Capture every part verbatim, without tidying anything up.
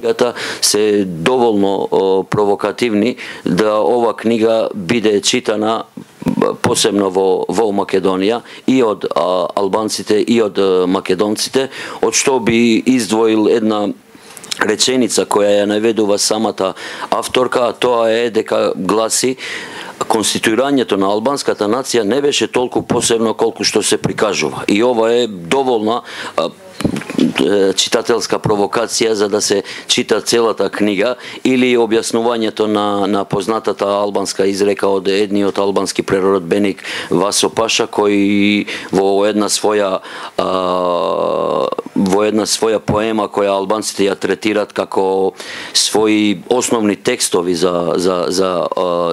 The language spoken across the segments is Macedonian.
книгата се доволно провокативни да ова книга биде читана посебно во, во Македонија и од а, албанците и од македонците, од што би издвоил една реченица која ја наведува самата авторка, а тоа е дека гласи: конституирањето на албанската нација не беше толку посебно колку што се прикажува. И ова е доволна а, читателска провокација за да се чита целата книга, или објаснувањето на, на познатата албанска изрека од едниот албански преродбеник Васо Паша, кој во една своја а, во една своја поема која албанците ја третират како своји основни текстови за за за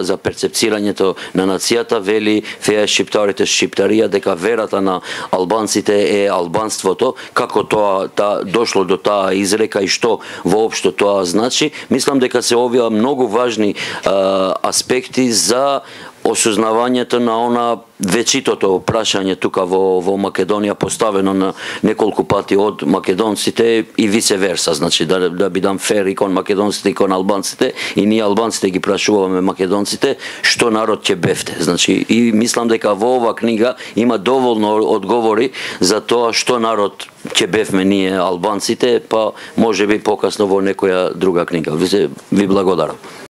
за перцепцирањето на нацијата, вели: феја шиптарите шиптарија, дека верата на албанците е албанството. Како тоа та дошло до таа изрека и што воопшто тоа значи? Мислам дека се овие многу важни а, аспекти за осознавањето на она вечитото прашање тука во, во Македонија, поставено на неколку пати од македонците и висе верса, значи да, да бидам фер и кон македонците и кон албанците, и ние албанците ги прашуваме македонците што народ ќе бевте. Значи, и мислам дека во ова книга има доволно одговори за тоа што народ ќе бевме ние албанците, па може би покасно во некоја друга книга. Ви, ви благодарам.